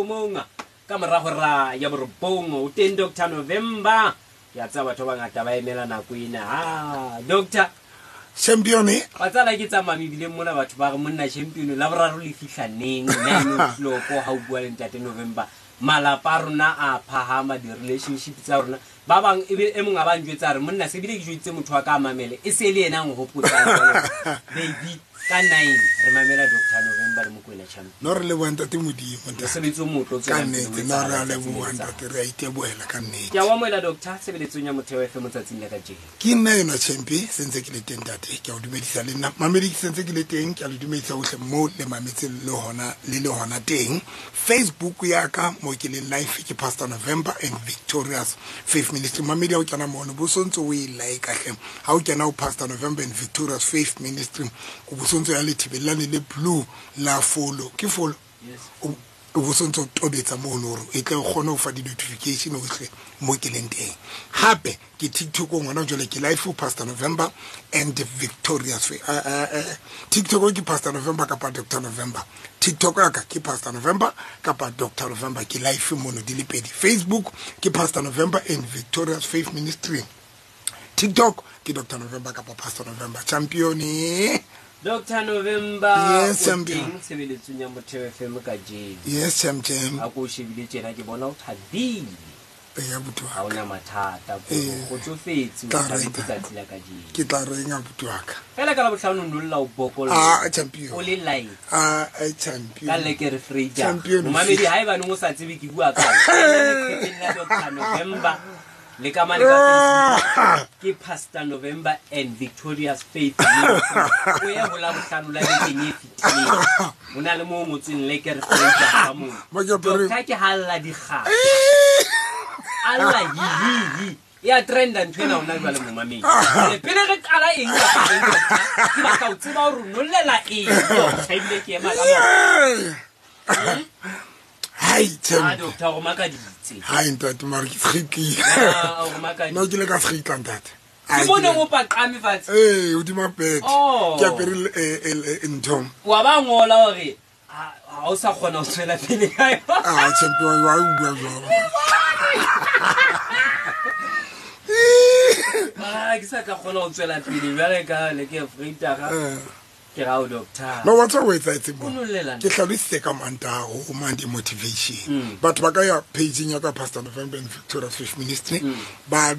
Mong ka mora hora ya borobong o teng Dr. November. Ke a tseba batho ba bangata ba emela nako ena. Ah, Doctor Champion wa tsala ke tsamaya mebileng mona, batho ba re monna Champion la boraro le fihla neng, 9 o'clock ha o bua le ntate November. Malapa a rona a phahama, di-relationship tsa rona ba bang ebe e mong a ba njwetsa a re monna se bile ke jweditse motho wa ka a mamele, e se le yena a nhopotsang jwale, baby, ka 9 re mamela Dr. November le Mokwena Champion. No, re leboha ntate Modimo, ntate. Mosebetsi o motle o Ka tswelang pele o nnete, no, re a etsahala letsatsi le leboha letsatsi. ntate, re a itebohela ka nnete. Ke a o amohela, doctor, tshebeletsong ya Motheo FM tsatsing la kajeno. Ke nna enwa Champi, sentse ke le teng ntate. Ke a o dumedisa le nna mamedi, ke sentse ke le teng. Ke a le dumedisa ohle mo le mametse le hona le le hona teng. Facebook ya ka mo ke leng live ke Pastor November and Victorious Faith Ministry. Mamedi, ha o kena mono bo sontse o e like hle. Ha o kena o Pastor November and Victorious Faith Ministry, o bo sontse ya lethibelane le blue la follow, ke follow. Yes. O bo sontse o tobetsa mono hore e tle o kgone ho fa di-notification ohle mo ke leng teng. Hape ke TikTok ngwana jwale, ke live ho Pastor November and Victorious Faith. TikTok ke Pastor November kapa Dr. November. TikTok ya ka ke Pastor November kapa Dr. November, ke live mono di le pedi. Facebook ke Pastor November and Victorious Faith Ministry, TikTok ke Dr. November kapa Pastor November. Champion. Dr. November. Yes, o champion. teng tshebeletsong ya Motheo FM kajeno. Yes, champion. A ko o shebile tjena, ke bona o thabile. Eya, buti wa Ha ka. ona mathata, Ee. kgotsofetse, o Tla thabetse reka. tsatsi la kajeno. Ke tla reng, abuti wa ka? Fela ka Labohlano o nolla o bokolla. Ah, champion. O le light. Ah, champion. Ka lekere freja. Champion. Momamedi, ha ebaneng o sa tsebe ke bua ka leqepheng la Dr. November le ka mane ka Facebook ke Pastor November and Victorious Faith Ministry. O ye ho Labohlano la bekeng e fetileng, ho na le moo o ngotsweng lekere freja ka moo. Mo ke apere- Doctor ke halla dikgaba, alla hihihi, e a trenda ntho ena hona jwale. Momamedi. Jwale, pele re qala eng kapa eng, doctor, ke batla ho tseba hore o nollela eng, doctor, ebile ke ema ka maoto. Hai, Ah, champion. doctor, o makaditse. Hai ntate, mare ke segitlile. Ah, o makaditse. No, ke le ka segitla ntate. Ke bone o paqame fatshe. Ee, hodima bed. Oh. Ke apere ntho. Wa ba ngola hore ha o sa kgona ho tswela pele ka yona. Ah, champion, wa o bua jwalo. Ah, ke sa tla kgona ho tswela pele jwale ka le ke freitaga. Ke ra o, doctor. No, wa tseba o etsahetseng O mo? nollela. Ke hlalositse ka Mantaha ho Monday motivation. Batho ba ka ya pageng ya ka, Pastor November and Victorious Faith Ministry, ba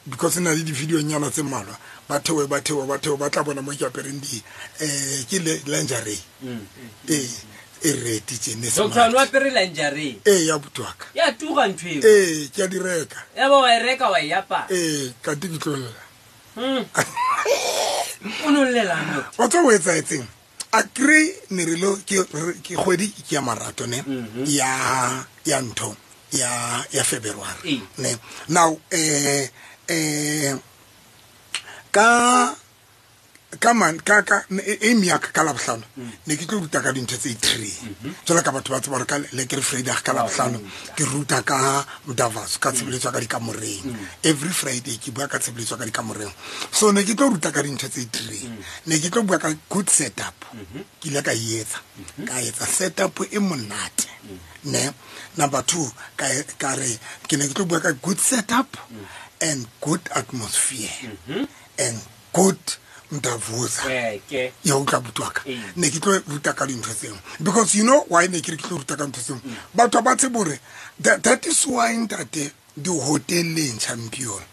because e na le di-video-nyana tse mmalwa. Ba theohe, ba theohe, ba theohe, ba tla bona mo ke apereng di ke lingerie ee e red tjene, Doctor, smart. o apere lingerie? Ee, ya buti wa ka. Ya tura ntho eo. Ee, ke a di reka. Ya ba wa e reka, wa e apara? Ee, kante ke tlo lla. O nollelang, doctor? Wa tseba o etsahetseng? A kry ne re lo ke kgwedi ke ya marato ne, ya ntho ya February. Ne now ka man ka aim ya ka ka Labohlano ne ke tlo ruta ka dintho tse three jwalo ka batho ba tseba hore ka lekere Friday ka Labohlano ke ruta ka mdavas, ka tshebeletso ya ka dikamoreng. Every Friday ke bua ka tshebeletso ya ka dikamoreng. So ne ke tlo ruta ka dintho tse three. Ne ke tlo bua ka good setup. Ke ile ka e etsa, ka etsa setup e monate ne. Number two, ka re ke ne ke tlo bua ka good setup and good atmosphere and good mdavuza. Ke Ya utlwa, buti wa ka? Ee. Ne ke tlo ruta ka dintho tseo because you know why ne ke re ke tlo ruta ka ntho tseo? Batho ba tsebe hore that is why ntate dihoteleng, champion,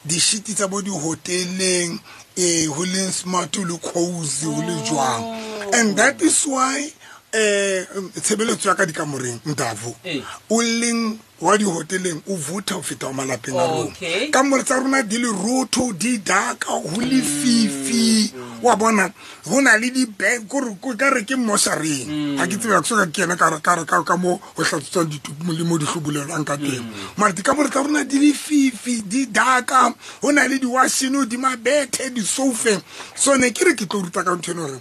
dishiti tsa bo dihoteleng e ho leng smart le cozy ho le jwang. And that is why tshebeletso ya ka dikamoreng mdavo Ee. o leng wa dihoteleng o vutha ho feta wa malapeng a rona. Kamore tsa rona di le rotho, di daka, ho lefifi, wa bona, ho na le di-bag kore ka re ke moshareng. Ha ke tsebe, ha ke soka ke kena ka mo ho hlatswetswang ditupu le mo di hlobolelwang ka teng, mara dikamore tsa rona di lefifi, di daka, ho na le di-washene hodima bethe, disoufeng. So ne ke re ke tlo ruta ka ntho eno hore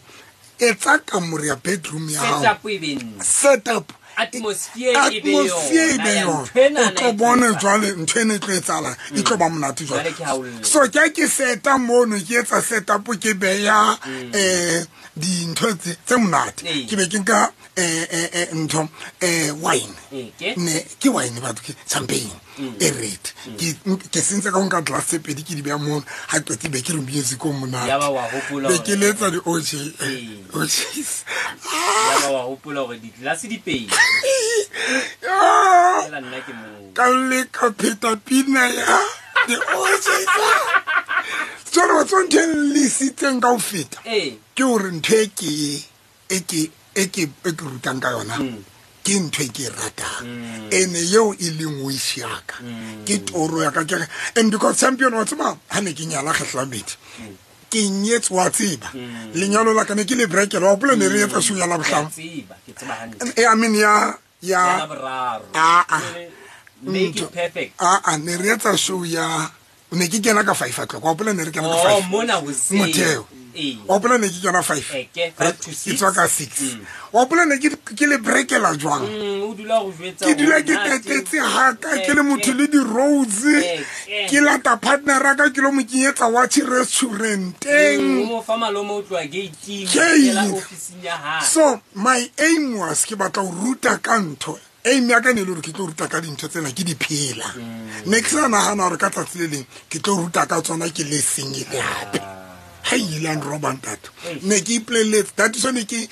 etsa kamore ya bedroom ya hao Setup e be ntle. Setup. Atmosphere e be atmosphere e be yona, yona ntho enana o tlo e bone tlo jwale ntho ena e tlo etsahalang e tlo ba monate Jwale jwale ke ha o lla. So ke ha ke seta mono ke etsa setup ke beya dintho tse monate. Ee. Ke be ke nka ntho wine. Ee, ke? Ne ke wine batho ke champagne e red. Ke sentse ka ho nka glass tse pedi ke di beha mono ha qete be ke re music o monate. Yaba wa hopola Be hore- ke letsa di OJ. Ee. OJs. Yaba wa hopola hore ditlelase di pedi. Ah! Fela nna ke moo. Ka le ka pheta pina ya the OJs. Jwale wa tseba ntho e nlesitseng ka ho feta. Ee. Ke hore ntho e ke rutang ka yona ke ntho e ke e ratang. Ene eo e leng wish ya ka. Ke toro ya ka ke re, and because champion wa tseba ha ne ke nyala kgetlo la bobedi. Ke nyetse wa tseba. Lenyalo la ka ne ke le brekela, wa hopola ne re etsa show ya Labohlano. Ke a tseba, ke tseba hantle. I mean ya, ya Ya Laboraro. Ah, ah. Make it Ntho. perfect. Ah, ah, ne re etsa show ya, ne ke kena ka 5 o'clock. Wa hopola ne re kena ka Oh, 5. mona hoseng. Motheo. Ee. Wa hopola ne ke kena 5. Eke, 5 to 6. Ke tswa ka 6. Wa hopola ne ke le brekela jwang? O dula ho jwetsa Ke dula hore ke na tatetse haka, ke le motho Eke. le di-roads. Eke. Ke lata partner ya ka, ke lo mo kenyetsa watch restauranteng. O mo fa malome o tloha gate-ing, Ke o kena eng? ofising ya hae. So my aim was ke batla ho ruta ka ntho. Aim ya ka ne e le hore ke tlo ruta ka dintho tsena ke di phela. Ne ke sa nahana hore ka tsatsi le leng ke tlo ruta ka tsona ke le sengele hape. Ha e ile ya nroba ntate. Ne ke ipolelletse, that is why ne ke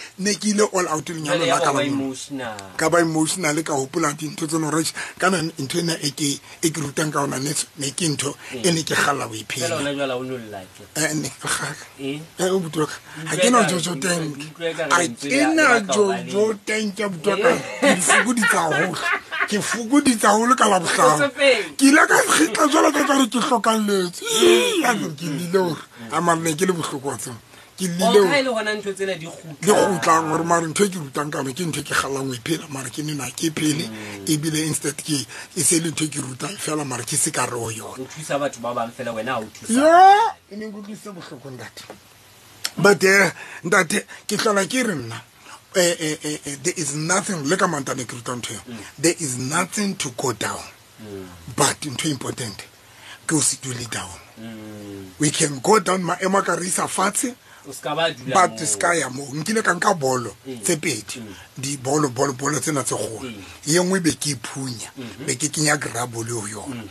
ile all out lenyalong Jwale la ya ka ba la monna. emotional. Ka ba emotional ka hopola dintho tsena hore eish, kana ntho ena e ke rutang ka yona ne ke ntho e ne ke kgalla ho e Fela phela. hona jwale ha o no lla ke. Ne ke kgalla. Eh? O bua ka. Ha ke na Jojo tank. Utlwe ka re Ha lentswe ke le na batla ho ba le- Jojo tank ya bua ka. Ke di fokoditse haholo. Ke fokoditse haholo ka Labohlano. Kgotsofetse. Ke ile ka kgitla jwalo ka ekare ke hlokalletswe. Ii, ya ke llile hore. A mara ne ke le bohloko wa tseba. Ke llile Oh, hore ha e le hona ntho tsena di kgutla. di kgutlang hore mara ntho e ke rutang ka yona ke ntho e ke kgallang ho e phela, mara ke nena ke phele. Ebile instead ke e se le ntho e ke rutang fela mara ke se ka re ho yona. O thusa batho ba bang fela wena ha o thusa. Ya, e ne nkutlwisitse bohloko ntate. But ntate ke hlola ke re nna there is nothing le ka mantane ke rutang ntho eo. There is nothing to go down. But ntho e important ke o se dule down. We can go down maemo a ka re isa fatshe. O ska ba dula But moo. ska ya moo. Nkile ka nka bolo tse pedi. Di bolo, bolo, bolo tsena tse kgolo. E nngwe be ke phunya, be ke kenya grabble ho yona.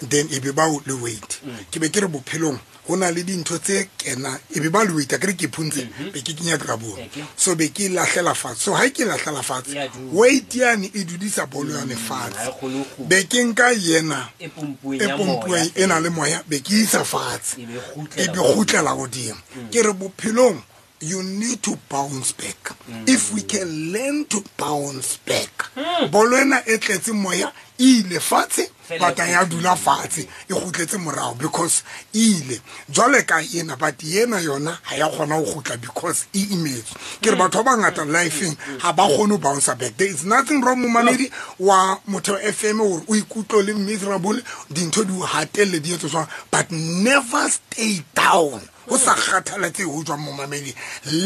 Then e be ba o le weight. Ke be ke re bophelong ho na le dintho tse kena, e be ba le weight, akere ke phuntse, be ke kenya grabble. Eke. So be ke lahlela fatshe. So ha ke lahlela fatshe, E a dula. weight yane e dudisa bolo yane fatshe. Ha e kgone ho kgutla. Be ke nka yena E pompuweng e ya pompuweng moya. e na le moya, be ke isa fatshe. E be kgutlela E be kgutlela hodimo. Ke re bophelong you need to bounce back. If we can learn to bounce back. Bolo ena e tletse moya, e ile fatshe, Fela but ya dula fatshe, e kgutletse morao because e ile. Jwale ka ena, but ena yona ha ya kgona ho kgutla because e imetswe. Ke re batho ba bangata life-eng ha ba kgone ho bounce back. There is nothing wrong momamedi wa Motheo FM hore o ikutlwe le miserable, dintho di o hatelle di etse jwang, but never stay down. Ho sa kgathalatsehe ho jwang momamedi.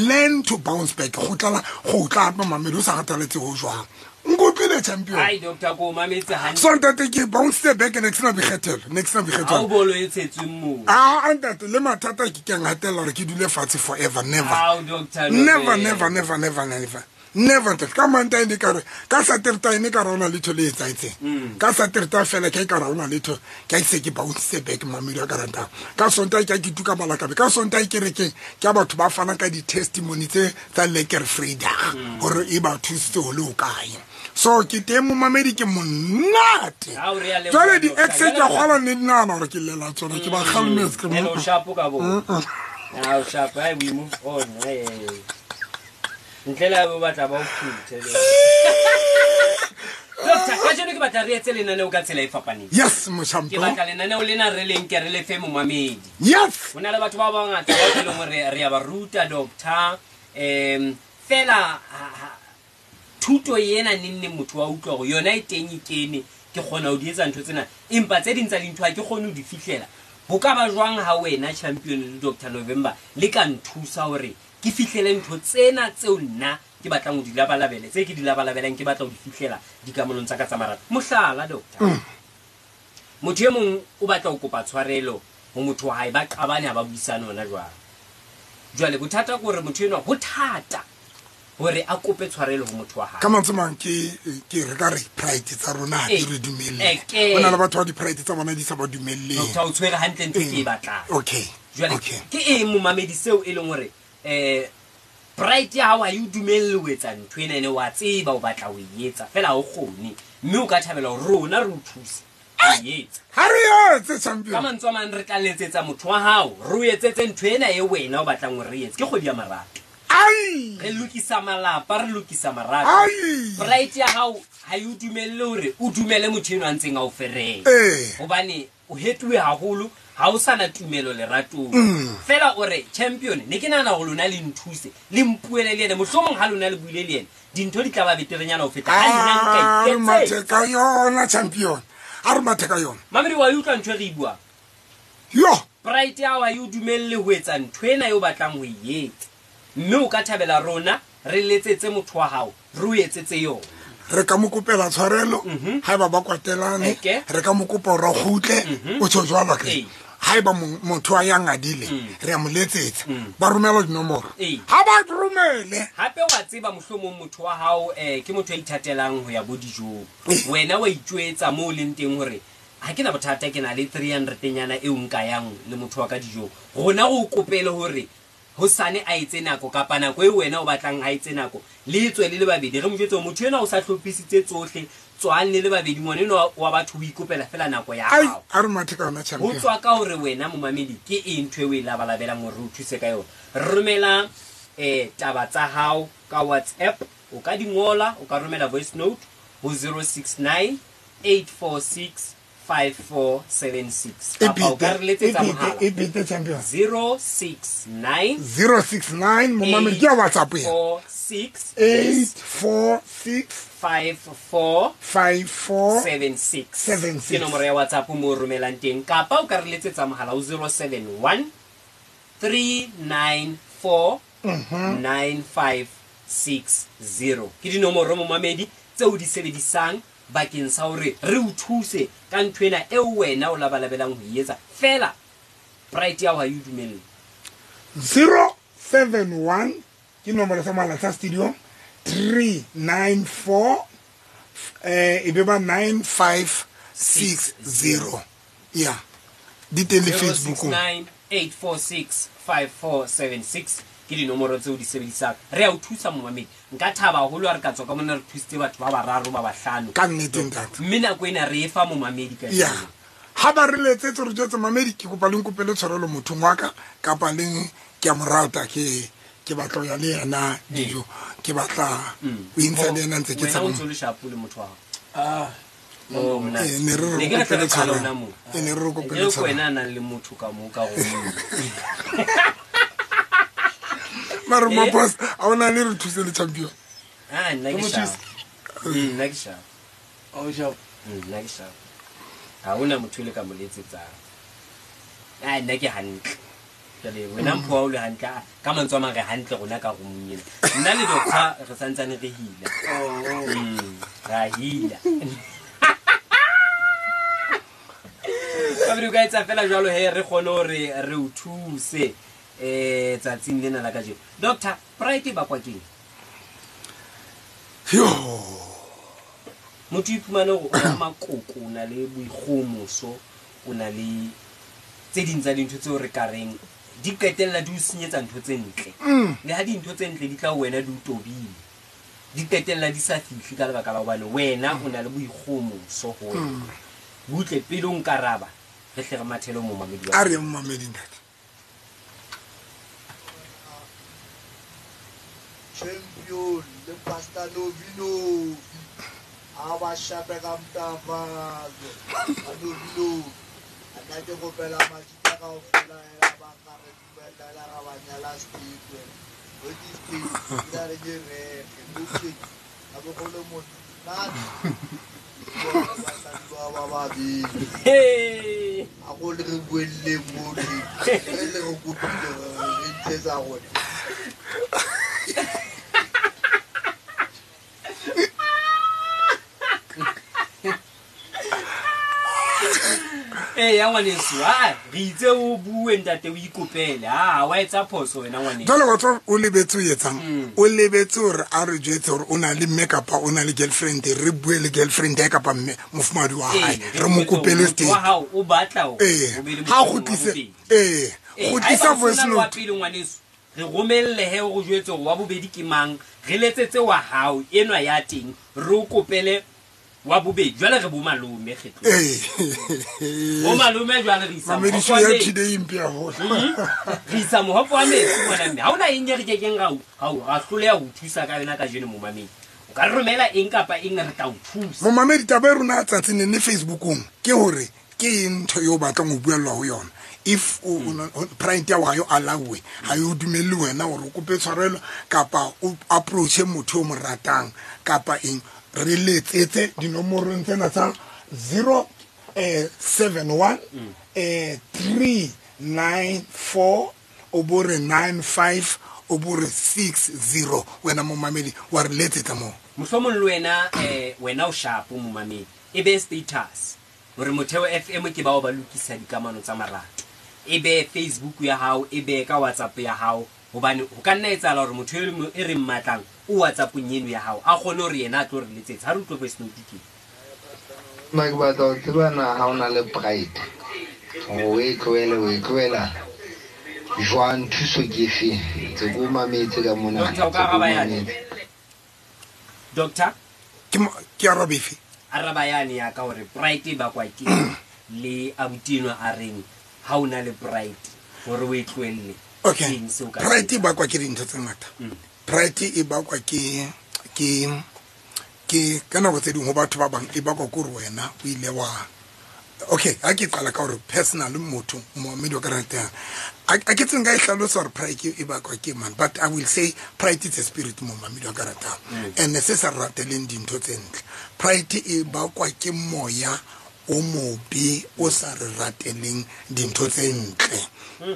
Learn to bounce back. Kgutlela, kgutla hape momamedi, ho sa kgathalatsehe ho jwang. Nkutlwile champion. Ai, doctor, ko o mametse hantle. So ntate ke bounce back ne ke sena boikgethelo, ne ke sena boikgethelo. Ha o bolo e tshetsweng moo. Ah, ntate, le mathata ke ke a ngatella hore ke dule fatshe forever, never. Ao, doctor, Never, Nobel. never, never, never, never. Never, ntate. Ka Mantaha ne ka re, ka Sateretaha ne ka re ha hona letho le etsahetseng. Ka Sateretaha fela ke a e ka re ha hona letho, ke a se ke bounce back mamedi wa ka ratang. Ka Sontaha ke a ke tuka malakabe. Ka Sontaha kerekeng, ke a batho ba fana ka di-testimony tse tsa Lekker Vrydag, hore e ba thusitse ho le hokae. So ke teng momamedi ke monate. Ha o re a leboha, Jwale doctor. di-ex ke a kgolwa ne di nahana hore ke llela tsona, ke ba kgalemetse, ke Hello, sharp ka bo. Ha o sharp, hai, we move on. Hai. Ntle le ha o batla ba o phuthe. Doctor, kajeno ke batla re etse lenaneo ka tsela e fapaneng. Yes, Ke moshampo. batla lenaneo lena re leng ke re le fe momamedi. Yes. Ho na le batho ba bangata bao e leng hore re a ba ruta, doctor. Fela, thuto ena neng neng motho wa utlwa hore yona e teng e kene, ke kgona ho di etsa ntho tsena, empa tse ding tsa dintho ha ke kgone ho di fihlela. Ho ka ba jwang ha wena champion le Doctor November le ka nthusa hore ke fihlele ntho tsena tseo nna ke batlang ho di labalabele, tse ke di labalabelang ke batla ho di fihlela dikamanong tsa ka tsa marato. Mohlala, doctor, motho e mong o batla ho kopa tshwarelo ho motho wa hae, ba qabane ha ba buisane hona jwale. Jwale bothata ke hore motho enwa ho thata hore a kope tshwarelo ho motho wa hae. Ka mantswe mang ke re ka re pride tsa rona ha di re dumelle. Ke. Ho na le batho ba di-pride tsa bona di sa ba dumelleng. Doctor, o tshwere hantle ntho ke e batlang. Okay. Jwale Okay. ke eng momamedi seo e leng hore pride ya hao ha e o dumelle ho etsa ntho ena, ene wa tseba o batla ho e etsa fela ha o kgone, mme o ka thabela hore rona re o thuse ho e etsa. Ha re etse, champion. Ka mantswe a mang re tla letsetsa motho wa hao, re o etsetse ntho ena e wena o batlang hore re etse. Ke kgwedi ya marato. Ai! Re lokisa malapa, re lokisa marato. Ai! Pride ya hao ha e o dumelle hore o dumele motho enwa a ntseng a o fereya. Hobane o hetuwe haholo, ha o sana tumelo leratong. Fela o re, champion, ne ke nahana hore lona le nthuse, le mpuele le yena. Mohlomong ha lona le buile le yena, dintho di tla ba beterenyana ho feta ha nna nka A re iketsetsa. mathe ka yona, champion. A re mathe ka yona. Mamedi, wa e utlwa ntho e re e buang? Yo! Pride ya hao ha e o dumelle ho etsa ntho ena eo o batlang ho e etsa. Mme o ka thabela rona re letsetse motho wa hao, re o etsetse yona. Re ka mo kopela tshwarelo, haeba ba kwatelane, re ka mo kopa hore a kgutle, o tjho jwalo akere. Haeba motho a yang adile, re a mo letsetsa, ba romela dinomoro. Ha ba romele. Hape wa tseba mohlomong motho wa hao, ke motho ya ithatelang ho ya bo dijong. Wena wa itjwetsa moo o leng teng hore ha ke na bothata, ke na le 300 nyana eo nka yang le motho wa ka dijong. Rona re o kopele hore hosane a etse nako kapa nako eo wena o batlang a etse nako, le tswe le le babedi. Re mo jwetse hore motho enwa o sa hlophisitse tsohle, tswang le le babedi, ngwana enwa wa batho o ikopela fela nako ya Ai, hao. a re mathe ka yona, champion. Ho tswa ka hore wena momamedi ke eng ntho eo o e labalabelang hore re o thuse ka yona. Romela taba tsa hao ka WhatsApp, o ka di ngola, o ka romela voice note ho 069 846 5476. Kapa o ka re letsetsa mohala. E bete, champion. 069 069, momamedi, ke ya WhatsApp ena. 46 846 54 54 76. 76. Ke nomoro ya WhatsApp mo o romelang teng, kapa o ka re letsetsa mohala ho 071 394 9560. Ke dinomoro momamedi tseo di sebedisang bakeng sa hore re o thuse ka ntho ena eo wena o labalabelang ho e etsa. Fela pride ya hao ha e o dumelle. 071 ke nomoro sa mohala sa studio, 394, e be ba 9560. Ya, di teng le Facebook-ong. 069 846 5476 ke dinomoro tseo di sebedisang. Re a o thusa momamedi. Nka thaba haholo ha re ka tswa ka mona re thusitse batho ba bararo ba bahlano. Ka nnete, ntate. Mme nako ena re e fa momamedi ka Ya. jeno. Ha ba re letsetse re jwetse mamedi, ke kopa le nkopele tshwarelo mothong wa ka, kapa le ke a mo rata, ke batla ho ya le yena dijo, ke batla ho intsha le yena ntse ke Wena tshaba o mo. ntso le shapo le motho wa hao. Oh, Monate. Ne re re Ne ke re kopele tla qala tshwarelo. hona moo. Ne re re kopele Eo ke tshwarelo. wena a nang le motho ka moo ka roomong. Mare Maphosa, ha ona le re thuse le champion. Ah, nna ke Ke mo sharp. thuse. Nna ke sharp. O sharp. Nna ke sharp. Ha hona motho e le ka mo letsetsang. Ah, nna ke hantle. Jwale wena mpho wa o le hantle, ka mantswe a mang re hantle rona ka roomong ena. Nna le doctor re santsane re hila. Ra hila. Ka ka etsa fela jwalo he re kgone hore re o thuse tsatsing lena la kajeno. Doctor, pride e bakwa keng? Yo. Motho o iphumane hore o na le makoko, o na le boikgohomoso, o na le tse ding tsa dintho tseo re ka reng di qetella di o senyetsa ntho tse ntle. Le ha dintho tse ntle di tla ho wena di o tobile, di qetella di sa fihle ka lebaka la hobane wena o na le boikgohomoso ho wena. Butle pele o nkaraba, re hle re mathele ho momamedi wa A re ye momamedi, ntate. Champion le Pastor Novi Novi. A ba shape ka mtafazo. A Novi Novi. A nna ke kopela majita kaofela hela ba ka re dumella hela ra ba nyala state. Bo di state, ke la re ke reke. Bo tje, ha bo kgone monate. Bona basadi ba ba babedi. Hey! A go le re buelle mo tje. Re le re kopile re ntshetsa rona. Ee ya ngwaneso, a re itse o bue ntate o ikopele, a wa etsa phoso wena ngwaneso. Jwale wa tswa o lebetse o etsang, o lebetse hore a re jwetse hore o na le mme kapa o na le girlfriend, re bue le girlfriend ya kapa mme mofumahadi wa hae, re mo kopele wa teng. Hao o batla hore Ee, o be le ha motho wa kgutlise bobedi. ee, Ee, kgutlisa haeba o voice sena le wa note. pele ngwaneso, re romelle he o re jwetse hore wa bobedi ke mang, re letsetse wa hao enwa ya teng, re o kopele wa bobedi. Jwale re bo malome kgetlo, Ee. bo malome jwale re isa Mamediso mohope wa ya metsi. today mpe haholo. Re isa mohope wa metsi ngwana mme ha hona eng e re kekeng ra hloleha ho thusa ka yona kajeno. Momamedi o ka re romela eng kapa eng, re tla o thusa. Momamedi, taba e rona tsatsing ne ne Facebookong ke hore ke eng ntho eo o batlang ho buellwa ho yona. If pride ya hao ha yo allow-e, ha yo dumelle wena hore o kope tshwarelo kapa o approach-e motho o mo ratang kapa eng, re letsetse dinomorong tsena tsa 0 71 394 o bo re 95 o bo re 60. Wena momamedi wa re letsetsa moo. Mohlomong le wena, wena o shapo momamedi, e be status hore Motheo FM ke bao ba lokisa dikamano tsa marato, e be Facebook ya hao, e be ka WhatsApp ya hao, hobane ho ka nna etsahala hore motho e re mmatlang o WhatsAppong eno ya hao, a kgone hore yena a tlo re letsetsa. Ha re utlwe voice note ke. Nna ke batla ho tseba na ha o na le pride hore o e tlohele, o e tlohela jwang, thuso ke efe? Tse ko mametse ka mona. Doctor, o ka tse ko araba yane? mametse. Doctor? Ke arabe efe? Araba yane ya ka hore pride e bakwa ke eng, le abuti enwa a reng ha o na le pride hore o e tlohelle, Okay. ke eng seo o ka se Pride e bakwa ke dintho tse ngata. Pride e bakwa ke ka nako tse ding ho batho ba bang e bakwa ke hore wena o ile wa, okay, ha ke qala ka hore personal motho momamedi wa ka ratang, a ke tseng ka e hlalosa hore pride e bakwa ke man, but I will say pride is a spirit, momamedi wa ka ratang, and se sa rateleng dintho tse ntle. Pride e bakwa ke moya o mobe o sa re rateleng dintho tse ntle.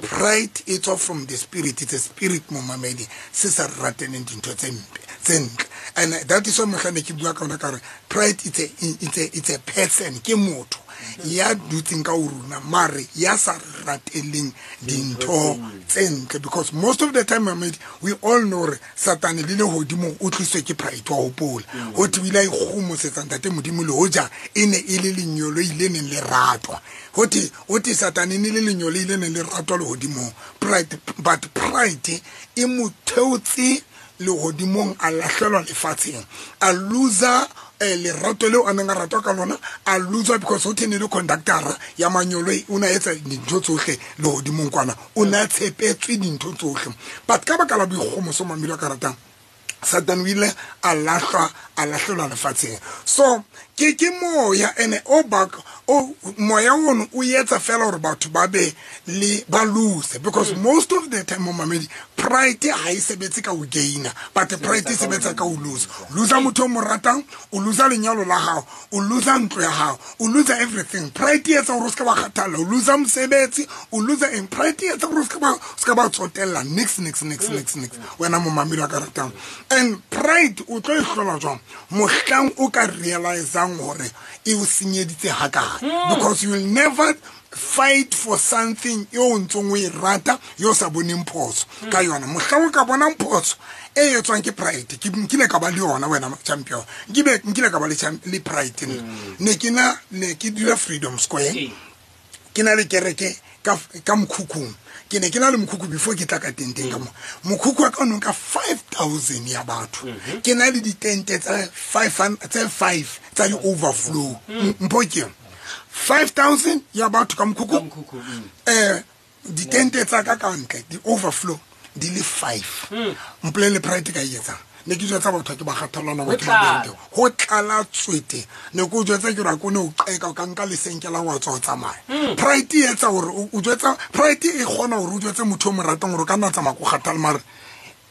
Pride e tswa from the spirit, it's a spirit, momamedi, se sa re rateleng dintho tse mpe tse ntle. And that is why mohla ne ke bua ka ona ka hore pride it's a person, ke motho ya dutseng ka ho rona mare ya sa re rateleng dintho tse ntle, because most of the time, mamedi, we all know hore Satane le lehodimong o tliswe ke pride. Wa hopola ho thwe o ile a ikgomosetsa ntate Modimo le hoja e ne e le lenyoloi le neng le ratwa. Ho thwe Satane e ne le lenyoloi le neng le ratwa lehodimong. Pride, but pride e mo theotse lehodimong, a lahlelwa lefatsheng, a loser lerato leo a neng a ratwa ka lona, a loser because ho thwe ne le conductor ya manyoloi, o na etsa dintho tsohle lehodimong kwana, o na tshepetswe dintho tsohle, but ka baka la boikgomoso, mamelo a ka ratang, Satan o ile a lahlwa, a lahlelwa lefatsheng. So ke moya ene o baka o moya ono o etsa fela hore batho ba be le ba lose, because most of the time, momamedi, pride ha e sebetse ka ho gaina, but pride e sebetsa ka ho lose. Loser motho o mo ratang, o loser lenyalo la hao, o loser ntlo ya hao, o loser everything. Pride e etsa hore o se ka ba kgathalla, o loser mosebetsi, o loser eng. Pride e etsa hore o se ka ba tsotella nix nix nix nix nix, wena momamedi wa ka ratang. And pride o tlo e hlola jwang? Mohlang o ka realisang hore e o senyeditse hakae, because you will never fight for something eo o ntsong o e rata yo o sa boneng phoso ka yona. Mohlang o ka bonang phoso e etswang ke pride, ke nkile ka ba le yona, wena champion, nkile ka ba le pride nna. Ne ke na, ne ke dula Freedom Square, ke na le kereke ka mokhukhung. Ke ne ke na le mokhukhu before ke tla ka tenteng ka mo. Mokhukhu wa ka o no nka 5000 ya batho. Ke na le ditente tsa tse 5 tsa di-overflow. Mpho ke yona. 5000 ya batho ka mokhukhu. Ka mokhukhu. Ditente tsa ka ka ntle, di-overflow di le 5. Mpolelle pride ka e etsang. Ne ke jwetsa batho ke ba kgathalana ba Ho ke ba tlala. bente. Ho tlala tswete. Ne ke o jwetsa ke re ha ke o ne o qeka, o ka nka lesenke la wa tswa o tsamaya. Pride e etsa hore o jwetsa, pride e kgona hore o jwetse motho o mo ratang hore o ka nna tsamaya ko kgathale, mare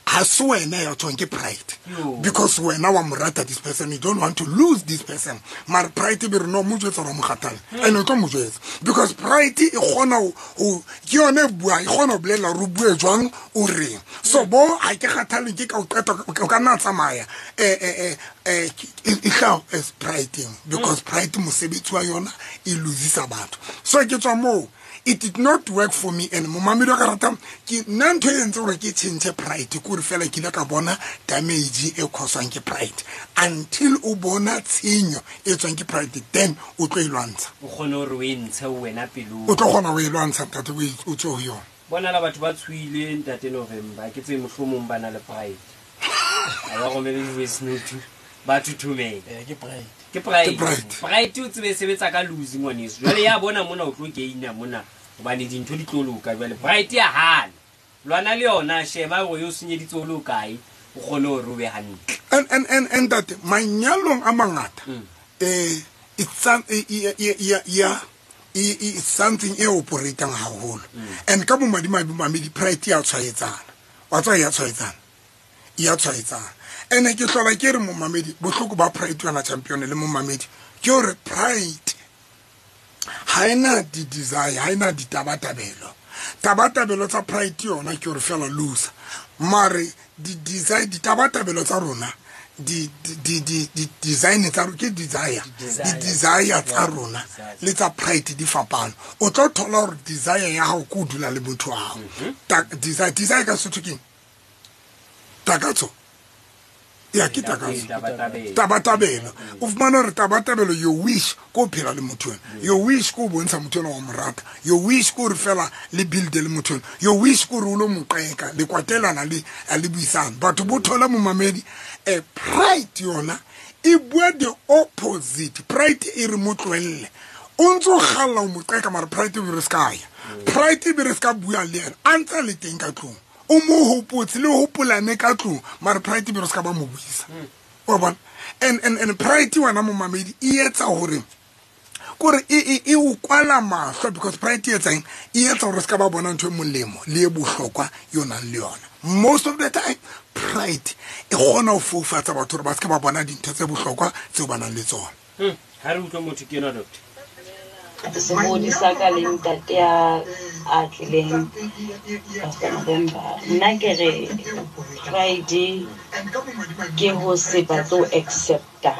Ha se wena ya tshwang ke pride, because wena wa mo rata this person, you don't want to lose this person. Mara pride be re no mo jwetsa gore mo kgathale, and o tlo mo jwetsa because pride e kgona ho ke yone e buang, e kgona ho bolela hore o bue jwang, o reng. So bo ha ke kgathale ke ka o qeta, o ka nna tsamaya, e hlaha as pride, because pride mosebetsi wa yona e losisa batho. So ke tswa moo, it did not work for me. And momamedi wa ka rata ke nna ntho e entseng hore ke change pride ke hore fela ke ile ka bona damage e cause-wang ke pride. Until o bona tshenyo e tswang ke pride, then o tlo e lwantsha. O kgone hore o e ntshe wena pelong. O tlo kgona ho e lwantsha, ntate, o tswe ho yona. Bona la batho ba tshohile, ntate November, ke tse mohlomong ba na le pride. Ha ba romele di-voice note, ba thothomela. Ke pride. Ke pride. Ke pride. Pride o tsebe sebetsa ka lose ngwaneso. Jwale ya bona mona o tlo gaina mona hobane dintho di tlo loka. Jwale pride ya hana. Lwana le yona, sheba hore o senyeditse o le kae, o kgone hore o be hantle. And that manyalong a mangata, it's something e operatang haholo. And ka bomadimabe mamedi, pride ya tshwaetsana. Wa tswa ya tshwaetsana. Ya tshwaetsana. Ene ke hlola ke re momamedi, bohloko ba pride yona champion le momamedi, ke hore pride ha ena di-desire, ha ena ditabatabelo. Tabatabelo tsa pride yona ke hore fela loser. Mare di-desire, ditabatabelo tsa rona, di-design tsa rona, ke desire. Di-desire tsa rona le tsa pride di fapana. O tlo thola hore desire ya hao ke ho dula le motho wa hao. Desire ka Sesotho keng? Takatso. Ya ke takatso. Tabatabelo. O fumana hore tabatabelo, your wish ko phela le motho ena. Your wish ko bontsha motho ena wa mo rata. Your wish ko re fela le build le motho ena. Your wish ko re o lo mo qeka, le kwatelana le a le buisana. Batho bo thola momamedi, pride yona e bua the opposite. Pride e re mo tlohelle. O ntso kgalla o mo qeka, mara pride e be re ska ya. Pride e be re ska bua le yena. A ntse le teng ka tlung. O mo hopotse le hopolane ka tlung, mara pride be re ska ba mo buisa. Wa bona? And pride wena momamedi e etsa hore kore e o kwala mahlo, because pride e etsang e etsa hore ska ba bona ntho e molemo le e bohlokwa yona le yona. Most of the time pride e kgona ho foufatsa batho hore ba ska ba bona dintho tse bohlokwa tseo ba nang le tsona. Ha re utlwe motho ke ena, doctor. Sebodi sa ka le ntate ya a tlileng Pastor November. Nna ke re pride ke ho se batle ho accepta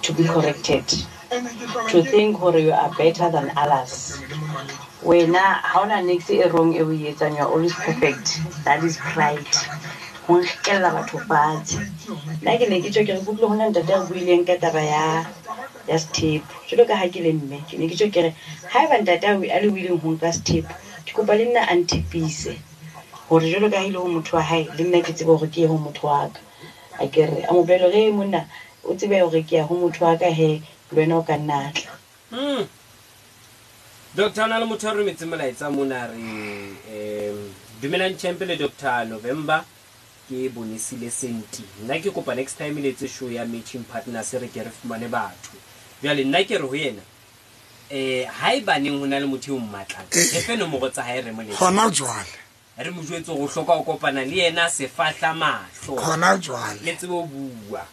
to be corrected, to think hore you are better than others. Wena ha ona niks e wrong e o e etsang, you are always perfect. That is pride. Ho nkella batho fatshe. Nna ke ne ke tjho ke re kutlwe hona ntate a buileng ka taba ya sethepu. Jwalo ka ha ke le mme, ke ne ke tjho ke re haeba ntate a le willing ho nka sethepu, ke kopa le nna a nthepise hore jwalo ka ha e le ho motho wa hae, le nna ke tsebe hore ke ye ho motho wa ka. A ke re a mo bolelle hore monna o tsebe hore ke ya ho motho wa ka, he le wena o ka nna tla. Doctor, na le motho a rometse molaetsa mona re dumelang champ le Doctor November, ke bonesile senti. Nna ke kopa next time le etse show ya matching partners re ke re fumane batho. Jwale nna ke re ho yena, haebaneng ho na le motho eo mmatlang, re fe nomoro tsa hae re mo letse. Hona jwale. Re mo jwetse hore o hloka ho kopana le yena sefahla mahlo. Hona jwale. Le tsebe ho bua.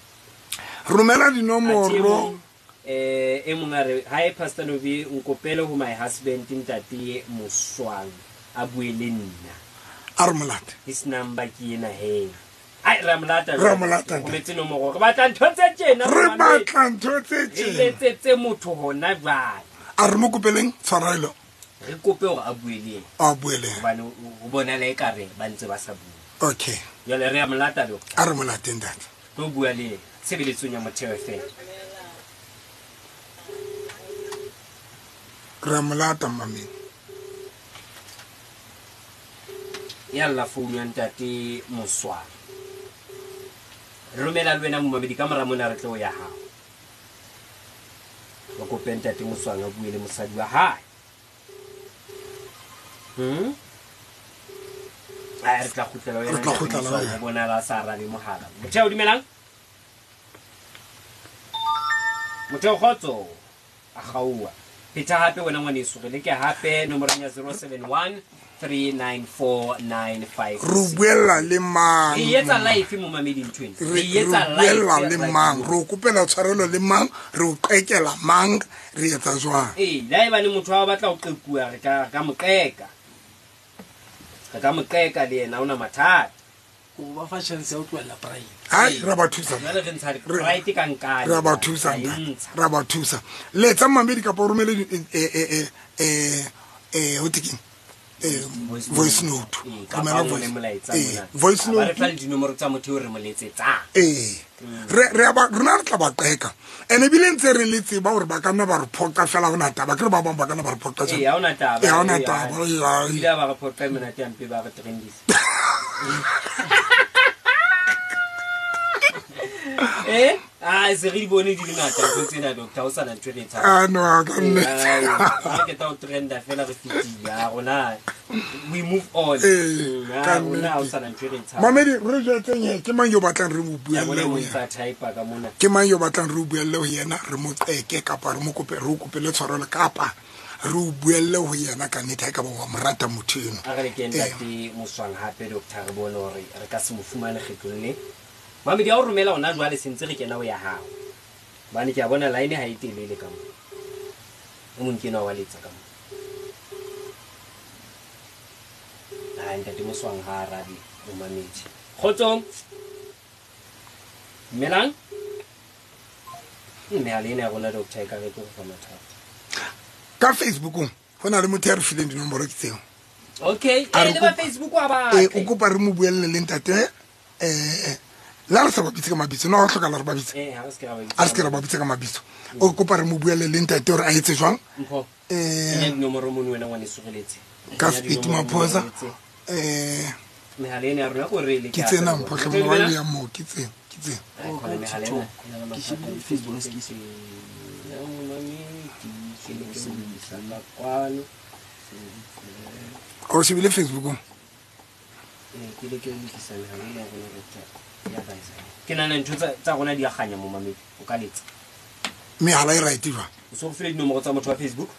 Romela dinomoro. E mong a re, hi Pastor Novi, nkopele ho my husband ntate Moswang a bue le nna. A re molate. His number ke ena he. Ai re molata. Re molata. O metse nomoro. Re batla ntho tse tjena. Re batla ntho tse tjena. Re letsetse motho hona jwale. A re mo kopeleng tshwarelo. Re kope hore a bue le yena. A bue le yena. Hobane o bona le ekare ba ntse ba sa bue. Okay. Jwale re a molata lo. A re molate ntate. Tlo bua le yena. Tshebeletsong ya Motheo FM. Re a molata mameng. Ya lla founu ya ntate Moswang. Romela le wena momamedi ka mora mona re tlo ya hao. Ba kope ntate Moswang a bue le mosadi wa hae. Ai re tla kgutlela wena. Re tla kgutlela wena. Bona la sa arabe mohala. Motheo dumelang. Motheo kgotso a kgaoha. Pheta hape wena ngwaneso, re leke hape nomorong ya 071 394 95. Re o buella le mang? Re etsa live mo mameding twin. Re Re etsa re buella live le mang? Re o kopela tshwarelo le mang? Re o qekela mang? Re etsa jwang? Ee, le haeba le motho wa batla ho qekuwa, re ka mo qeka. Re ka mo qeka le yena, ha hona mathata. O ba fa chance ya ho tlohella pride. Hai, ra ba thusa. Jwale re ntsha pride ka nkane. Ra ba thusa, Ra e ntate. ntsha. Ra ba thusa. Letsa mamedi kapa o romele ho thwe keng? Voice note. Ee, kapa Romela o ngole voice. molaetsa mona. Voice Ba re note. fa le dinomoro tsa motho eo re mo letsetsang. Ee. Re a ba, rona re tla ba qeka. And ebile ntse re le tseba hore ba ka nna ba re phoqa fela, ha hona taba. Ke re ba bang ba ka nna ba re phoqa tjena. Ee, ha hona taba. Ee, ha hona Ee, taba. ha. Ee, ha. Ebile ha ba re phoqa e monate hampe, ba re trendisa. Se re di bone di le ngata ntho tsena, doctor, ha o sana ntho e re e tshabang. Ah, no, ha ka nnete. Ee, ha re qeta ho trenda fela re fetile. Ha rona, we move on. Ee, ka Ha rona ha o nnete. sana ntho e re e tshabang. Mamedi, re jwetseng he, ke mang yo batlang re mo Ke a buelle bona ho o yena? ntsa type-a ka mona. Ke mang yo batlang re o buelle ho yena, re mo qeke kapa re mo kope, re o kopele tshwarelo kapa re o buelle ho yena ka nnete, ha ekaba wa mo rata motho eno. A re le ke ntate Moswang hape, doctor, re bone hore re ka se mo fumane kgetlong le. Mamedi, ha o romela hona jwale se ntse re kena ho ya hao. Hobane ke a bona line ha e telele ka moo. O mong ke enwa wa letsa ka moo. Hai, ntate Moswang ha arabe o mamedi. Kgotsong. Dumelang. Mehala ena ya rona, doctor, e ka re tlo re fa mathata. Ka Facebookong ho na le motho ya re fileng dinomoro ke tseo. Okay, A re le ba kopa- Facebook wa ba Ee, tle. o kopa re mo buelle le ntate, le ha re sa ba bitse ka mabitso, no ha ho hlokahala re ba bitse. Ha re se ke ra ba bitsa Ha re se ke ra ba bitsa ka mabitso. O kopa re mo buelle le ntate hore a etse jwang? Mpho. Kenya dinomoro mono wena ngwaneso re letse. Ka Kenya speed dinomoro mono Maphosa. re letse. Mehala ena ya rona ko re le Ke ke tsena a mpho tseba. hle, mona wa ya moo, ke tsena, ke tsena. Ai, Oh, khona ka mehala TikTok. ena. E na le Ke shebile mathata. Facebook, se ke se. Ya, momamedi, ke ne ke mo isa ka kwano. O shebile Facebookong? Ee, ke le ke lokisa mehala ena ya rona, doctor. Ya baisa. Ke nahana ntho tsa rona di a kganya momamedi, o ka letsa. Mehala e right jwang? O so file dinomoro tsa motho wa Facebook?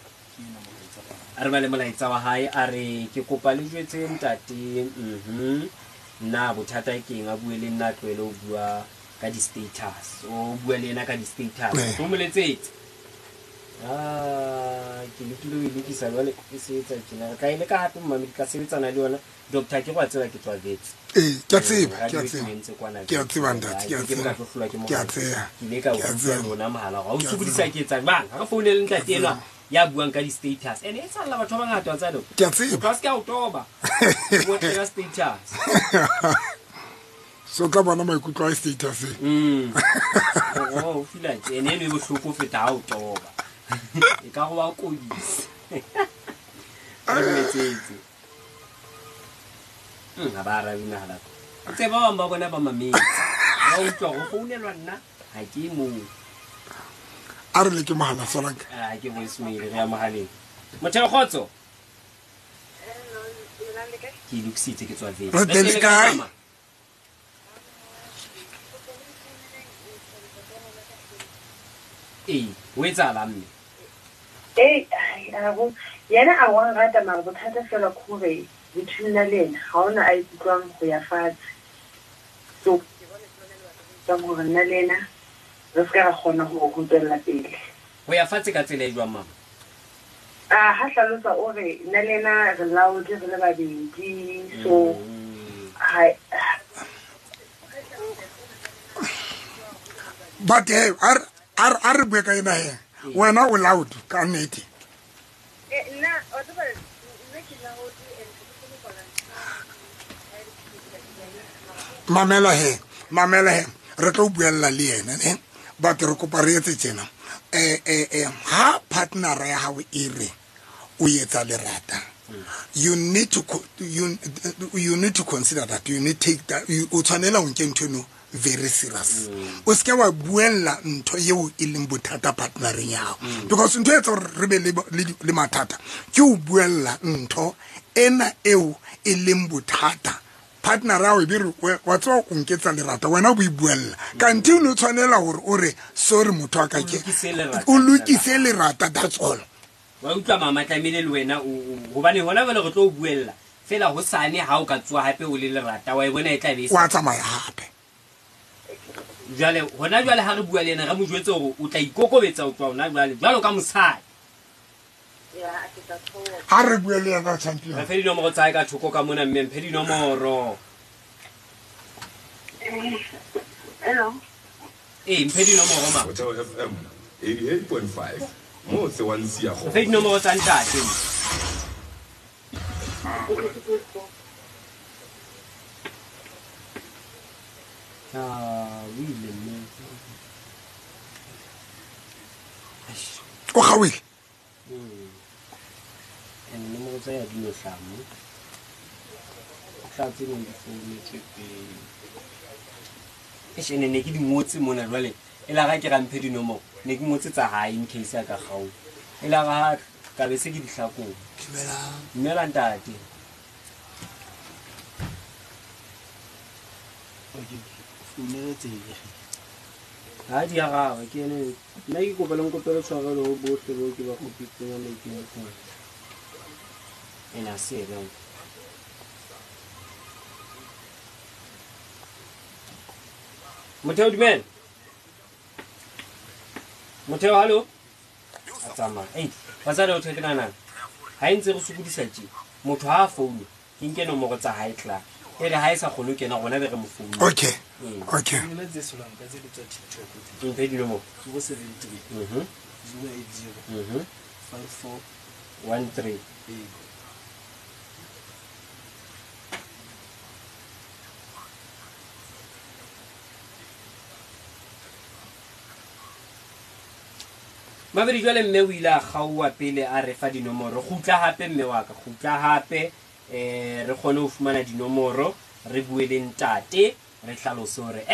A re bale molaetsa wa hae, a re ke kopa le jwetse ntate, nna bothata ke eng, a bue le nna, a tlohele ho bua ka di-status. O bua le yena ka di-status. Eh. O mo letsetse. Ke lekile ho e lokisa jwale e se etsa tjena. Re tla e leka hape momamedi, ka sebetsana le yona. Doctor, ke go a tseba ke tswa Wits. Ee, ke a tseba, Radio ke a e tseba. entse kwana Ke a Wits. tseba, ntate, ke a Ke ke tseba. ka tlo hlolwa ke Ke a mohala. tseba. Ke ile ka Ke a utlwa tseba. lona mohala hore ha o Ke a sokodisa tseba. ke etsa jwang. Ha re founele ntate enwa ya buang ka di-status. And e salla batho ba bangata wa tseba, doctor. Ke a tseba. Motho a se ke a o toba. O tla status. So tla bona maikutlo a status e. Oh, o feel tje. Ene eno e bohloko ho feta ha o toba. E ka re wa kodisa. Re dumetsetse. Ha ba arabe mehala. O tseba ba bang ba bona ba mametse. Ba utlwa hore ho founelwa nna, ha ke moo. A re leke mohala, Solanka. Ah, ke voicemail, re ya mohaleng. Motheo kgotso. Ke e lokisitse, ke tswa Wits. Re teng le kae? Ee, ho etsahalang mme? Ee, ai, a bo, yena a wa nrata, mara bothata fela ke hore between nna le yena ha hona a ikutlwang ho ya fatshe. So, ke bona ke lona lebaka le etsang hore nna le yena re se ka ra kgona ho tswella pele. Ho ya fatshe ka tsela e jwang, mama? Ah, ha hlalosa o re nna le yena re laotse re le babedi, so ha But he, a re bue ka ena he. Wena o loud ka nnete. Nna, wa tseba, nna ke loud and ke kgone ho kwala ntho. Mamela he, mamela he. Re tlo buella le yena, ne? But re kopa re etse tjena. Ha partner ya hao e re o etsa lerata, you need to you need to consider that, you need take that, you, o tshwanela ho nke ntho eno very serious. O seke wa buella ntho eo e leng bothata partnereng ya hao. Because ntho e etsa hore re be le mathata ke ho buella ntho ena eo e leng bothata. Partner ya hao e be re, wa tseba o nketsa lerata, wena o bo e buella. Kanthe o no tshwanela hore o re, sorry motho wa ka ke, O lokise lerata. o lokise lerata, that's all. Wa utlwa mama, tlamehile le wena hobane hona jwale re tlo o buella fela hosane ha o ka tsoha hape o le lerata, wa e bona e tla be e Wa tsamaya hape. Jwale hona jwale ha re bua le yena, re mo jwetse hore o tla ikokobetsa ho tloha hona jwale jwalo ka mosadi. Ha re bue le yena, champion. Re fe dinomoro tsa hae ka thoko ka mona, mme mphe dinomoro. Hello. Ee, mphe dinomoro ma. Motheo FM 88.5 motse wa Nsiya. Re fe dinomoro tsa ntate. Ah, o ile mme. O kgaohile. And nomoro tsa ya di no hlaha mo. Tla tse neng di founetswe pele. Eish, ene ne ke di ngotse mona jwale. E la ga ke ra mphe dinomoro, ne ke ngotse tsa hae in case a ka kgaoha. E la ga ka be se ke di hlakola. Dumelang. Dumela ntate. Okay, founele tsebe. Ha di arabe ke ene. Nna ke kopa le nkopele tshwarelo ho bohle bao ke ba kgopitseng ya maikemisetso. Ena se ena. Motheo, dumela. Motheo, hallo. A tsamaya. Ei, batswadi o thwe ke nahana. Ha e ntse re sokodisa tje, motho ha a founa, ke nke nomoro tsa hae tla. E re ha e sa kgone ho kena rona be re mo founa. Okay. Okay. Founela tse solang ka tse le tswa TikTok tse. Mphe dinomoro. 073. 080. 54 13. Ee. Mabedi jwale mme o ile a kgaoha pele a re fa dinomoro. Kgutla hape mme wa ka, kgutla hape, re kgone ho fumana dinomoro, re bue le ntate, re hlalose hore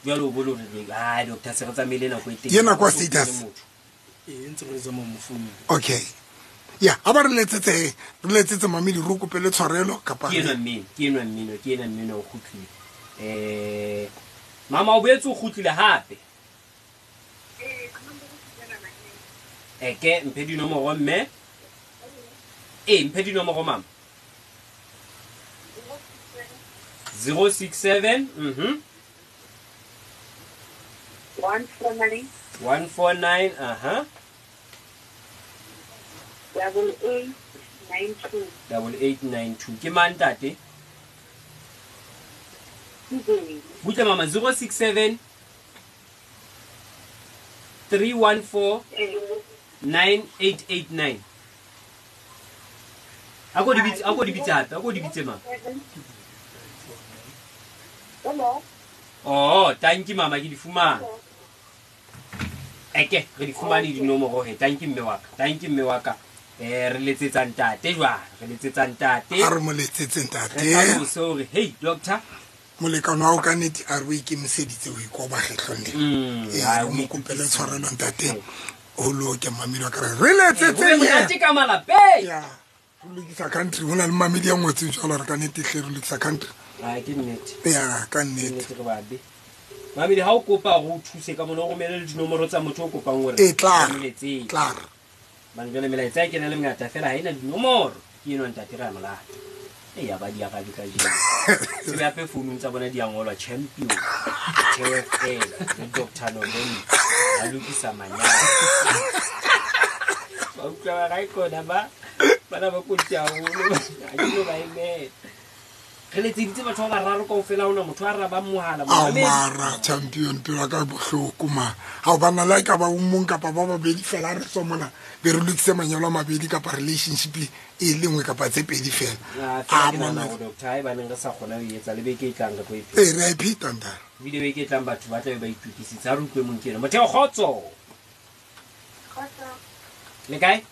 jwale o bone hore ai doctor se re tsamaile nako e teng. Ke nako ya status. Ee, ntse re tsamaya mo founung. Okay. Ya, ha ba re letsetse, re letsetse mamedi re kopele tshwarelo kapa Ke enwa mmino, ke enwa mmino, ke enwa mmino o kgutlile. Mama o boetse o kgutlile hape. Eke mphe dinomoro mme. Ee, mphe dinomoro mama. 067, 149. 149, aha. 8892. 8892. Ke mang ntate? Butle mama, 067 314 9889. Ako di bitse, ako di bitse hape, ako di bitse mama. Hello. Oh, thank you mama, ke di fumane. Eke, re di fumane dinomoro he. Thank you mme wa ka. Thank you mme wa ka. Re letsetsa ntate jwang? Re letsetsa ntate. A re mo letsetse ntate. Re hlalose hore, hey doctor, Molekane wa hao ka nnete a re o ikemiseditse ho ikoba kgetlong lena. Ee, ha re o mo kopele itokisitse. tshwarelo ntate. O loke mamedi wa ka re re letsetseng Ho be he. monate ka malapeng. Ya, re lokisa country. Ho na le mamedi a ngotseng jwalo hore ka nnete hle re lokisa country. Ah, ke nnete. Ya, ka Ke nnete. nnete re babe. Mamedi, ha o kopa hore o thuse ka mona, o romele le dinomoro tsa motho o kopang hore Ee, tla o mo letsetse. Tla. Bane jwale melaetsa e kena le mengata fela ha ena dinomoro. Ke enwa ntate re a molata. Ee, ya ba di arabe kajeno. Tsebe hape founung tsa bona di a ngolwa champion, TFL, le Doctor November. Ba lokisa manyalo. Ba utlwa ba ra ikona ba, bana ba kotsi haholo. Ha ke no ba emela. Re letseditse batho ba bararo kaofela, ha hona motho a arabang mohala. Ao Mohamedi. mara champion, pelo ya ka e bohloko ma. Ha o bana le ha e ka ba o mong kapa ba babedi fela re tswa mona, be re lokise manyalo a mabedi kapa relationship e le nngwe kapa tse pedi fela. Ah, fela Ah, ke nahana monna. hore doctor, haebaneng re sa kgona ho e etsa le beke e tlang re tlo e pheta. Ee, re a e pheta ntate. Ebile beke e tlang batho ba tla be ba itokisitse. Ha re utlwe mong ke ena. Motheo, kgotso. Kgotso. Le kae?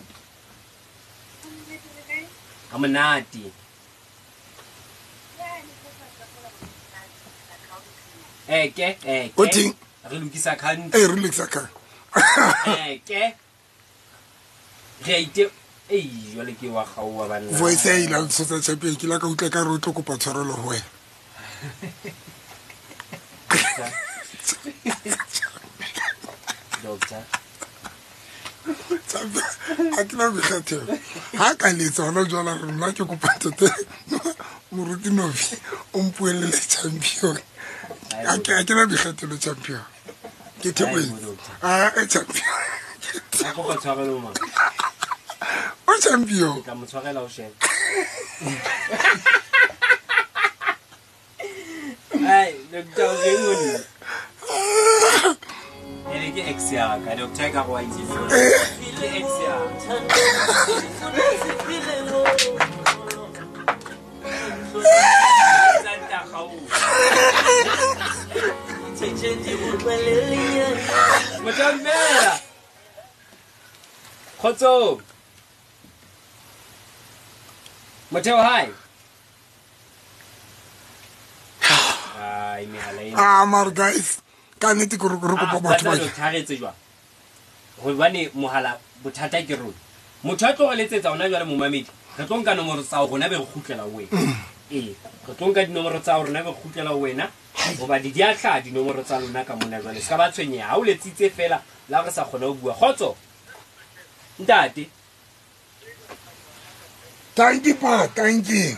Ha monate. Eke, eke. O teng? Re lokisa country. Ee, re lokisa country. Eke. Re a ite, ei, jwale ke wa kgaoha banna. Voice ya ile ntsotsa champion, ke la ka utlwa ka re o tlo kopa tshwarelo ho wena. Doctor. A ke na boikgethelo ha ka letsa hona jwale re nna ke kopa ntate Moruti Novi o mpuelele champion. A ke na boikgethelo champion. Ke thebohetse. A champion. A kopa tshwarelo ma. O champion. Ke tla mo tshwarela o shebe. Ai, doctor o reng o nna? Ene ke ex ya ka, doctor ka go a itse. Ke ex ya. Santa gau. Motjambela. Kgotso. Motheo hi. Ai mehala ena. Ah, mara guys, ka nnete ke re kopa batho ba ke tharetse jwang. Hobane mohala bothata ke rona. Motho a tlo re letsetsa hona jwale momamedi. Re tlo nka nomoro tsa rona be re kgutlela ho wena. Ee, re tlo nka dinomoro tsa rona be re kgutlela ho wena. Hoba di a hlaha dinomoro tsa lona ka mona jwale. Se ka ba tshwenyeha. Ha o letsitse fela la re sa kgona ho bua. Kgotso. Ntate. Thank you, pa, thank you.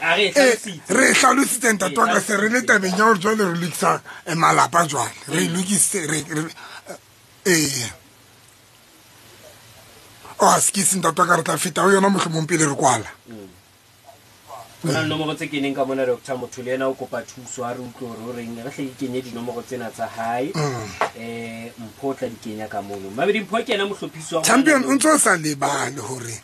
A re hlalositse. Re hlalositse ntate wa ka se re le tabeng ya hore jwale re lokisa malapa jwale. Re lokise re ee. Oh, skisi ntate wa ka re tla feta ho yona mohlomong pele re kwala. Ho na le nomoro tse keneng ka mona doctor motho le yena o kopa thuso ha re utlwe hore o reng. Re hle ke kenye dinomoro tsena tsa hae. Mpho o tla di kenya ka mono. Mabedi Mpho ke yena mohlophisi wa Champion o ntso sa lebale hore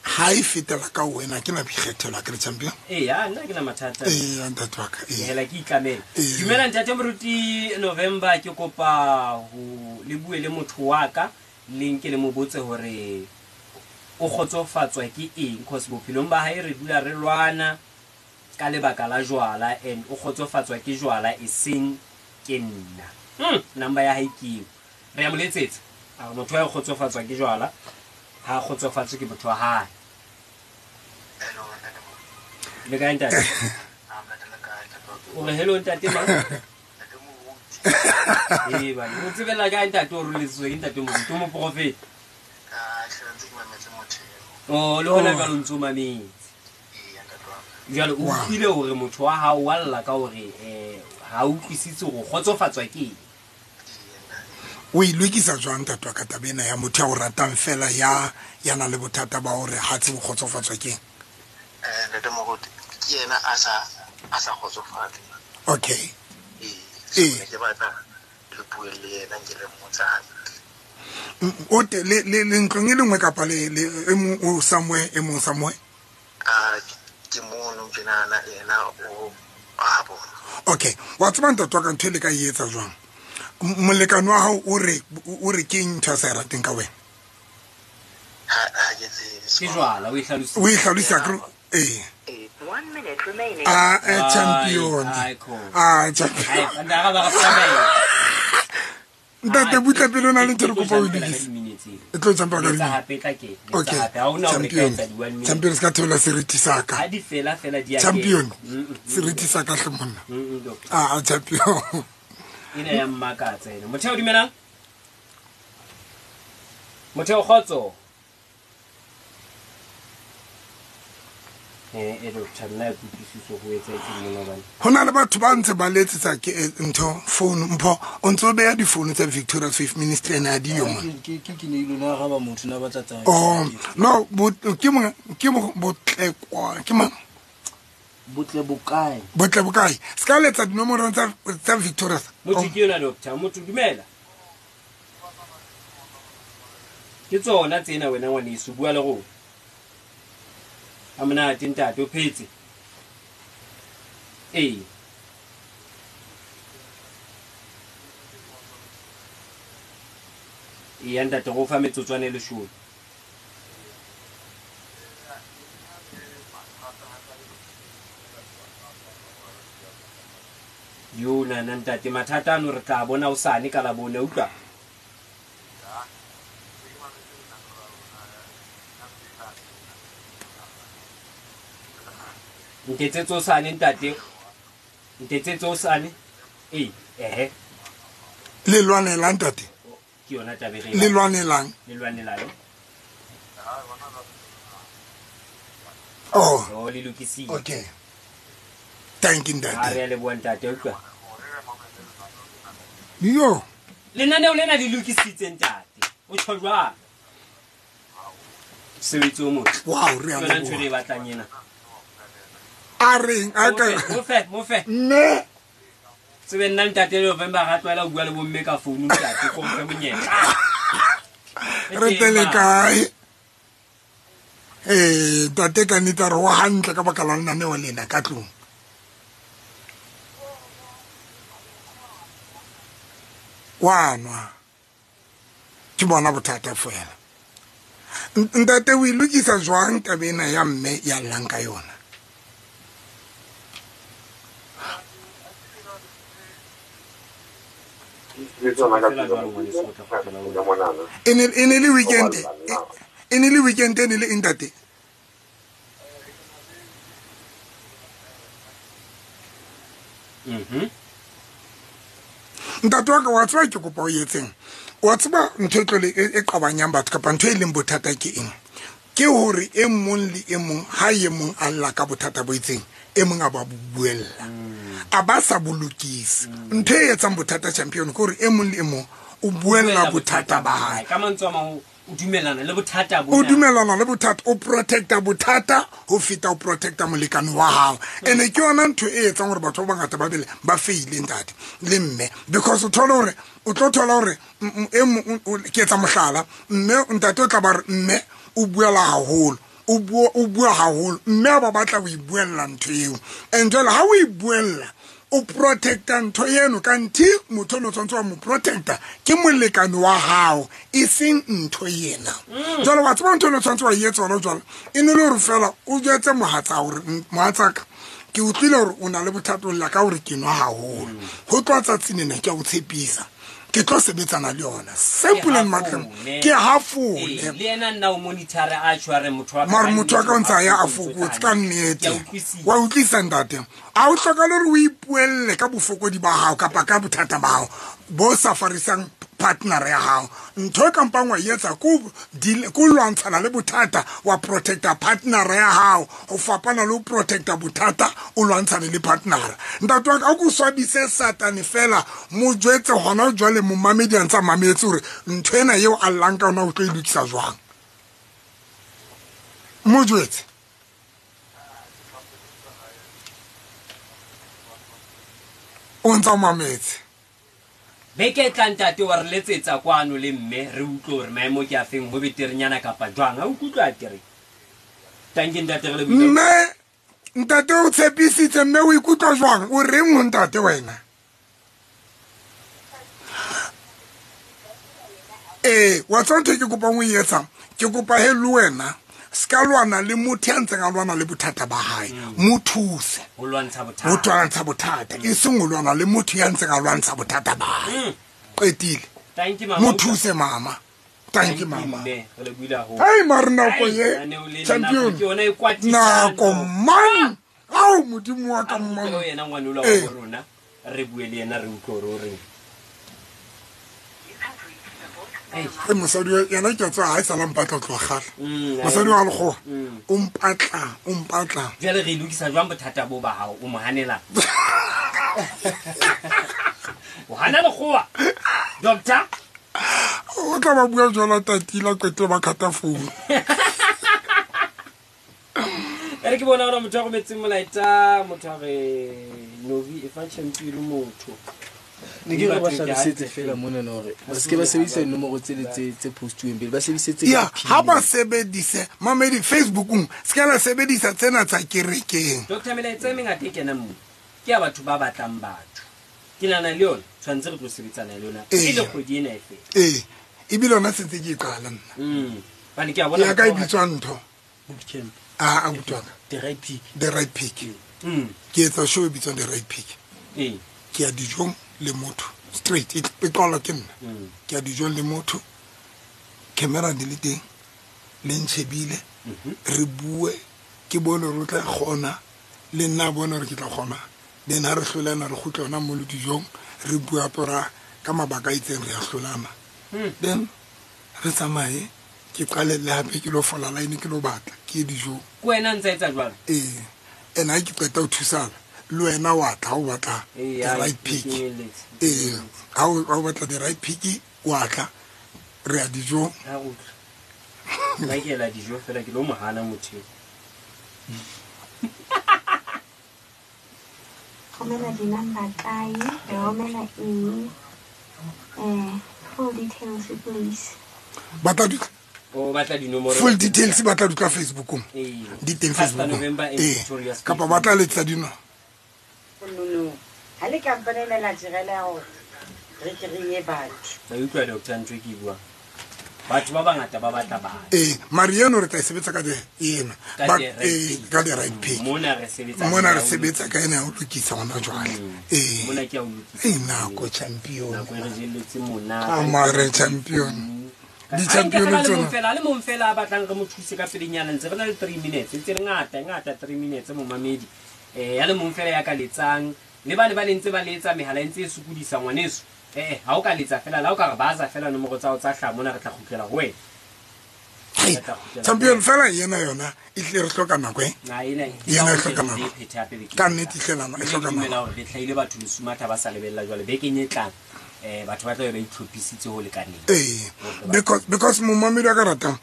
ha e fetela ka wena ke na boikgethelo ke re champion. Ee, ya nna ke na mathata. Ee, ntate wa ka. Ke hela ke itlamela. Dumela ntate Moruti November, ke kopa ho le bue le motho wa ka le nke le mo botse hore o kgotsofatswa ke eng, cause bophelong ba hae re dula re lwana ka lebaka la jwala and o kgotsofatswa ke jwala e seng ke nna. Number ya hae ke eo. Re a mo letsetsa. A re motho wa kgotsofatswa ke jwala ha kgotsofatswe ke motho wa hae. Le kae ntate? O re hello ntate mang? Ee bana, o tsebela kae ntate o roletswe ke ntate Moruti o moprofeta? Oh, le hona jwale o ntso mametse. Jwale o utlwile hore motho wa hao wa lla ka hore ha utlwisitse hore o kgotsofatswa ke eng. O e lokisa jwang ntate wa ka taba ena ya motho ya o ratang fela ya nang le bothata ba hore ha tsebe ho kgotsofatswa ke eng? Ntate Moruti, ke yena a sa kgotsofatse. Okay. Ee. Ke batla le bue le yena ke le mmotsa hantle. O te le ntlong e le nngwe kapa le e mong o somewhere e mong somewhere? Ke mono ke nahana yena o a bona. Okay. Wa tseba ntate wa ka ntho e le ka e etsa jwang? Molekane wa hao o re ke eng ntho a sa e rateng ka wena? Ha ke tsebe. Ke jwala, o e hlalositse. O e hlalosa ke ee. 1 minute remaining. Champion. Champion. Ntate butla pele o na le ntho re kopa o e lokise. E tlo jumpa ka hape tla ke. Okay. Champion. Champion se ka theola seriti sa ka. Ha di fela fela di a ke. Champion. Seriti sa ka hle monna. Champion. Ena ya mmakatsa ena. Motheo dumelang? Motheo kgotso. Doctor nna ke utlwisiso ho etsahetseng mona hobane. Ho na le batho ba ntse ba letsetsa ke ntho phone Mpho o ntso beha difounu tsa Victoria Faith Ministry ena di yo mona. Ke ne ile na ga ba motho na batla tsa. Oh no ke mo botlekwa ke mang? Botle bokae? Botle bokae? Se ka letsa dinomoro tsa Victoria. Motho ke yona doctor, motho dumela. Ke tsona tsena wena ngwaneso bua le rona. A monate ntate o phetse. Ee. Ee ntate go fa metsotswana e leshome. Yo nana ntate mathata ano re tla bona o sane ka la bone utlwa. Ntetsetso sane ntate. Ntetsetso sane. Ee, ehe. Le lwanelang tate? Ke yona taba e re Le lwanelang? Le lwanelang. Oh. Oh, le lokisitse. Okay. Thank you ntate. Ha re a leboha ntate, utlwa. Yo. Lenaneo lena le lokisitse ntate. O tjho jwang? Mosebetsi o motle. Wow, re a Ke yona ntho e leboha. re e batlang ena. A reng a ka Mofe, mofe. Mme Tsebe nna ntate November ga tlwaela ho bua le bomme ka founu ntate, ko mfe monyetla. Re tele kae? Ntate ka nnete a re wa hantle ka baka la lenaneo lena ka tlung. Wa nwa. Ke bona bothata fela. Ntate o e lokisa jwang taba ena ya mme ya llang ka yona? E ne le weekend, e ne le weekend e ne le ntate. Ntate wa ka wa tseba ke kopa o etseng. Wa tseba ntho e tlo le e qabanyang batho kapa ntho e leng bothata ke eng? Ke hore e mong le e mong ha e mong a lla ka bothata bo itseng, e mong a ba buella. A ba sa bolokise. Ntho e etsang bothata champion ke hore e mong le e mong o buella bothata ba hae. Ka mantswe a mang o dumellana le bothata bona. O dumellana le bothata, o protecta bothata ho feta o protecta molekane wa hao. Ene ke yona ntho e etsang hore batho ba bangata ba bele ba feile ntate le mme, because o thola hore o tlo thola hore e mong ke etsa mohlala, mme ntate o tla ba re mme o buela haholo, o bua haholo, mme ba batla ho ibuella ntho eo. And jwale ha o ibuella o protecta ntho eno, kanti motho o tshwanetse wa mo protecta ke molekane wa hao, e seng ntho ena. Jwale wa tseba ntho eno tshwanetse wa e etsa hona jwale, e ne le hore fela o jwetse mohatsa hore mohatsaka ke utlwile hore o na le bothata o lla ka hore ke nwa haholo. Ho tloha tsatsing lena ke a o tshepisa, ke tlo sebetsana le yona. Simple and matleng ke hafole. Le yena nna o monitor a tshware motho wa ka. Mare motho wa ka o ntsa ya a fokotse ka nnete. Wa utlwisa ntate. A o hlokahale hore o ipuelle ka bofokodi ba hao kapa ka bothata ba hao bo sa farisang partner ya hao. Ntho e kampang wa etsa ko lwantshana le bothata wa protecta partner ya hao, ho fapana le ho protecta bothata o lwantshane le partner. Ntate wa ka o swabise satane fela, mo jwetse hona jwale momamedi a ntsa mametse hore ntho ena eo a llang ka yona o tlo e lokisa jwang. Mo jwetse. O ntsa mametse. Beke tla ntate wa re letsetsa kwano le mme re utlwe hore maemo ke a feng, ho beterenyana kapa jwang. Ha o kutlwa ke re tanke ntate re le buile. Mme ntate o tshepisitse, mme o ikutlwa jwang? O reng ho ntate wena? Wa tseba ntho e ke kopang o e etsang? Ke kopa he le wena ska lwana le motho ya ntseng a lwana le bothata ba hae, mo thuse ho lwantsha bothata, ho lwantsha bothata, e seng ho lwana le motho ya ntseng a lwantsha bothata ba hae. Qetile. Thank you mama. Mo thuse mama. Thank you mama. Re le buile haholo. Hai mara nako ye champion. Nako man. Au modimo wa ka mmang. Yena ngwana o la wa rona re bue le yena re utlwe hore o reng. E mosadi yena ke tswa ha e sala mpatla tloha kgale. Mosadi wa lekgowa o mpatla. Jwale re lokisa jwang bothata bo ba hao, o mo hanela? O hana lekgowa doctor? O tla ba bua jwalo tatila qetile ba khata founu. Ere ke bona hore motho a rometseng molaetsa, motho a re Novi e fa champion motho. Ne ke re ba hlalosetse fela mona na hore ba se ke ba sebedisa dinomoro tsele tse postuweng pele, ba sebedise tse ya ha ba sebedise mamedi Facebookong, se ka la sebedisa tsena tsa kerekeng. Doctor melaetsa e mengata e kenang mo ke ya batho ba batlang batho. Ke nahana le yona tshwanetse re tlo sebetsana le yona e le kgwedi ena e fela. Ebile yona sentse ke e qala nna. Bane ke a bona ya ka e bitswa ntho bootcamp. A utlwa the right pick. The right pick. Ke etsa show e bitswang the right pick. Ke ya dijong le motho straight, e qala ke nna. Ke ya dijong le motho, camera di le teng, le ntshebile, re bue, ke bone hore o tla kgona, le nna bone hore ke tla kgona. Then ha re hlolana re kgutla hona mo le dijong, Re bua pora ka mabaka a itseng re a hlolana. Then re tsamaye ke qalelle hape ke lo fola line ke lo batla ke ye dijong. Ke wena a ntsa etsa jwalo? Ee. And ha ke qeta ho thusana le wena wa tla ha o batla Ee, the ha, right ke pick. kenyelletse. Ee, ha o batla the right pick wa tla re ya dijong. Ha re utlwe. Nna ke ela dijo fela ke lo mo hana motho eo. Romela di-number kae? Re romela eng? Full details please. Batla di O batla dinomoro. Full details ba tla di ka Facebookong. Ee. Di teng Pastor Facebookong. November and Ee. Victoria's Kapa ba tla letsa dino. No, ha le kampane ena la direla hore re kry-e batho. Ba utlwa doctor ntho e ke e buang. Batho ba bangata ba batla batho. Ee, mare eno re tla e sebetsa ka the ena. Ka Ba the right ee, pick. ka the right pick. Mona re sebetsa Mona ka re ya ho sebetsa ka ena ya ho lokisa hona jwale. Ee. Mona ke ya ho lokisa. Ee, nako champion. Nako e re jelletse monate. Ah, mare champion. Di-champion Ha nke tsona. fela le mong fela a batlang re mo thuse ka pelenyana ntse re na le 3 minutes ntse re ngata ngata 3 minutes momamedi. Ya le mong fela ya ka letsang le bane ba le ntse ba letsa mehala e ntse e sokodisa ngwaneso. Ha o ka letsa fela la o ka re baza fela nomoro tsa hao tsa hlaha mona re tla kgutlela ho wena. Hey, Re tla kgutlela ho champion wena. fela yena yona e tle re hloka nako e. Na ena Yena e ke hloka re nako. e phethe hape bekeng Ka e nnete e tlang. hle nako, e Mme hloka ke dumela nako. hore re hlahile batho Lesumatha ba sa lebella jwale bekeng e tlang. Batho ba tla be ba itlhophisitse ho lekaneng. Ee, because momamedi a ka ratang.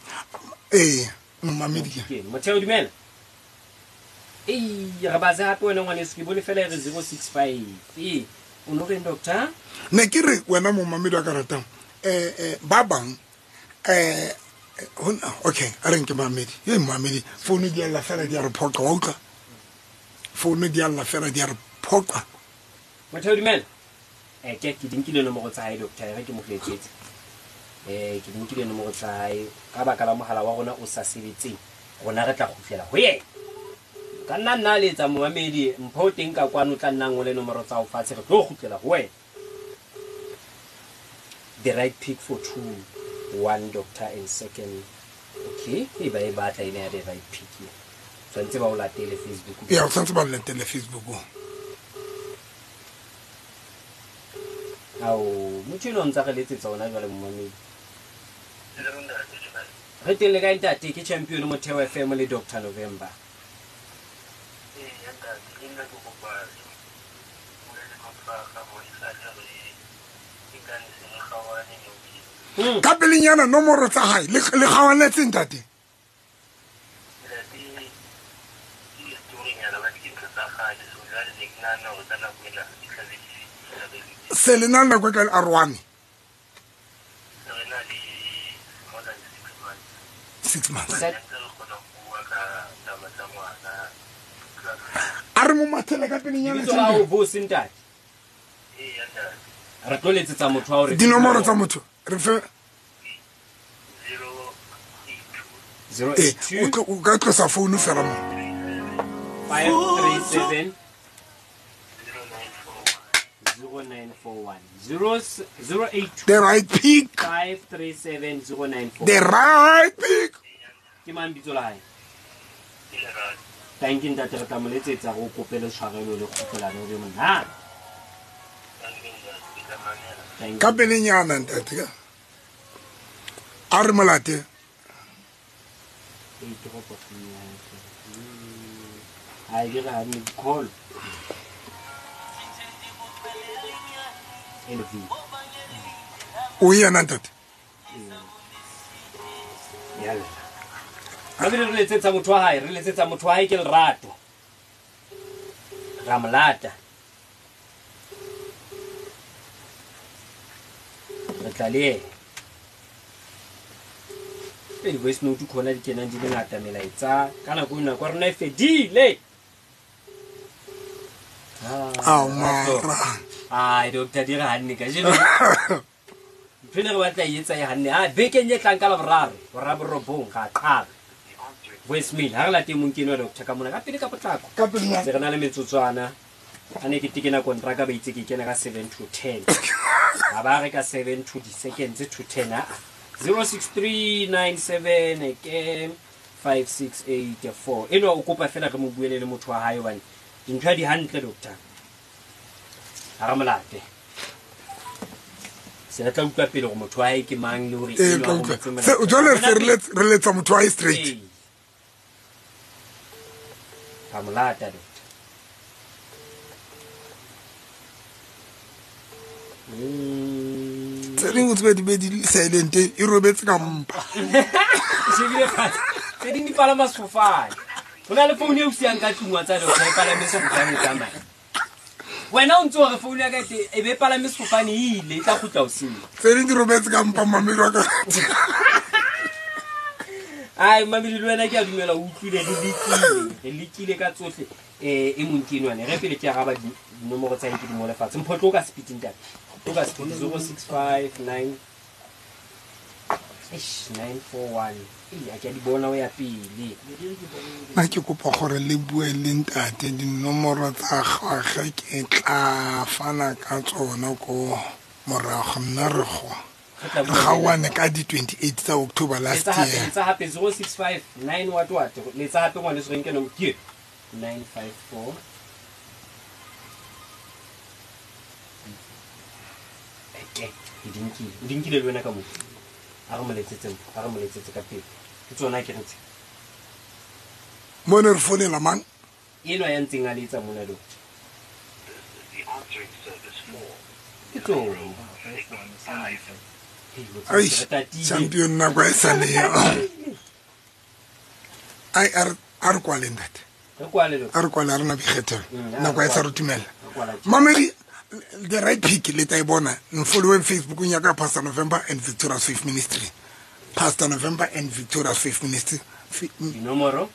Ee, momamedi ke. Ke Motheo dumela. Ei, re batse hape wena ngwaneso ke bone fela e re 065. Ee, o no reng doctor? Ne ke re wena momamedi a ka ratang. Ba bang okay, a re nke mamedi. Ye mamedi, founu di a lla fela di a re phoqa, wa utlwa? Founu di a lla fela di a re phoqa. Motheo dumela. Ke di nkile nomoro tsa hae doctor, e re ke mo letsetse. Ke di nkile nomoro tsa hae ka baka la mohala wa rona o sa sebetseng. Rona re tla kgutlela ho yena. Ka nna nna letsa momamedi mpho o teng ka kwano tla nna ngole nomoro tsa ho fatshe re tlo kgutlela ho wena. The right pick for 2, 1 doctor and second. Okay, e ba e batla ena ya the right pick. Tshwanetse ba o latele Facebook. Ya, o tshwanetse ba o latele Facebook. Ao, motho enwa o ntsa re letsetsa hona jwale momamedi. Re teng le kae ntate? Ke Champion Motheo FM le Dr November. Ka pelenyana nomoro tsa hae le kgawanetse ntate. Se le na le nako e kae aroane? 6 months. A re mo mathele ka pelenyana Lebitso la hao bo se ntate? Re tlo letsetsa motho wa hore Dinomoro tsa motho re fe 082. O ka tlosa founu fela mo. 537 0941. 082. The right pick. 537 0941. The right pick. Ke mang bitso la hae? Thank you ntate, re tla mo letsetsa go kopele tshwarelo le kgutlelano o be monate. Thank you. Ka pelenyana ntate ka. A re molate. Ee, toropo ke ya hae. Ha e re ha ne call. LV. O yena ntate. Yalla. Mabile re letsetsa motho wa hae, re letsetsa motho wa hae ke Lerato. Ra mo lata. Re tla le yena. Ee, voice note khona di kenang di le ngata melaetsa. Ka nako ena kwa rona e fedile. Ao, mara. Ai, doctor di re hanne kajeno. Ntho ena re batla e etsa e hanne. Ah, bekeng e tlang ka Laboraro, boraro ga qala. Voicemail, ha re late mong ke enwa doctor ka mona ka pele ka potlako. Ka pele. Se re na le metsotswana. A ne ke tekena kontraka ba itse ke kena ka 7 to 10. Ha ba re ka 7 to the seconds to 10 a. 06397 ke 5684. Enwa o kopa fela re mo buele le motho wa hae hobane dintho ha di hantle doctor. Ha re molate. Se tla utlwa pele gore motho wa hae ke mang le hore Ee, enwa tla o utlwa. motse mona. Jwale se re letsa motho wa hae straight. Ee. Ka mo lata, doctor. Tse ding o tsebe di be di silent, e robetse ka mpa. Shebile fatshe. Tse ding di palama sefofane. Ho na le founu e o siyang ka tlung wa tsa doctor, e palame sefofane e tsamaye. Wena o ntse o re founu ya ka e te- e be e palame sefofane e ile, e tla kgutla hoseng. Tse ding di robetse ka mpa, mamedi wa ka. Ai, mamedi le wena ke a dumela o utlwile, re lekile. Re lekile ka tsohle. E mong ke enwane. Re pele ke araba dinomoro tsa hae ke di ngole fatshe. Mpho tlo ka speed ntate. Tlo ka speed 0659 Eish, 941. Ei, a ke a di bona ho ya pele. Nna ke kopa gore le bue le ntate, dinomoro tsa gagwe ke tla fana ka tsona ko morago. Nna re go Re tla re bua le yena. gaoane ka di-28 tsa October last Letsa hape, year. letsa hape 065 9 what what. Letsa hape ngwaneso re nke nomoro. Ke 954. Eke, ke di nkile. O di nkile le wena ka moo. A re mo letsetse mpho, a re mo letsetse ka pele. Ke tsona ke re tse. Mo ne re founela mang? Enwa ya ntseng a letsa mona, doctor. Ke tsona. Hei, o tseba Ai, ke re tatile. champion, nako e sa le yo. Ai, a re kwale, ntate. Re kwale, doctor. A re kwale, a rena boikgethelo. A re Nako e sa kwale. re dumella. Re kwala tje. Mamedi, the right pick le tla e bona. Nfolloweng Facebookong ya ka, Pastor November and Victoria's Faith Ministry. Pastor November and Victoria's Faith Ministry. Dinomoro?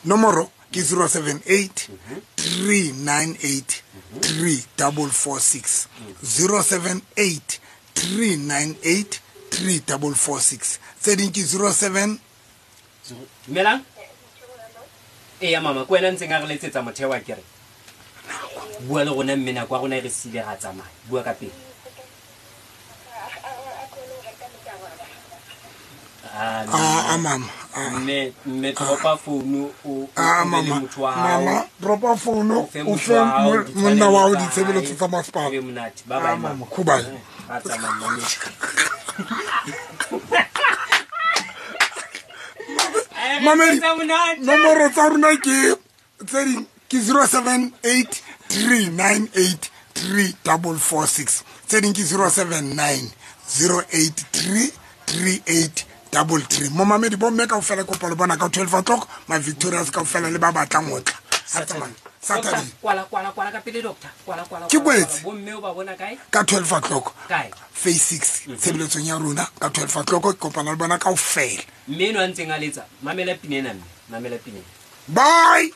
Nomoro ke 078 398 3446. 078 398 3446. Tse ding ke 07 Dumelang. Eya mama, ke wena ntseng a re letsetsa motheo wa kere. Bua le rona mme nako ya rona e re siile ra tsamaya. Bua ka pele. Ah, mama. Mme, mme dropa founu o Ah, o be le mama. motho wa hao. Mama, dropa founu O fe o motho fe wa hao monna wa hao ditshwanelo tsa ditshebeletso hae. tsa masepala. E be monate. Bye Ah, bye, mama. mama. Khubale. Ra tsamaya, mama. Mamedi, nomoro tsa rona ke tse ding ke 078 398 3446. Tse ding ke 079 083 3833. Momamedi, bomme kaofela kopa le bona ka 12 o'clock, ma Victorias kaofela le ba batlang ho tla. Ha tsamaya. Saturday. Doctor, kwala, kwala, kwala ka pele, doctor. Kwala, kwala, Ke kwala, kwala. kwetse. Bomme o ba bona kae? Ka 12 o'clock. Kae? Phase 6, tshebeletsong ya rona ka 12 o'clock, ke kopana le bona kaofela. Mme enwa a ntseng a letsa, mamela pina ena mme, mamela pina ena. Bye.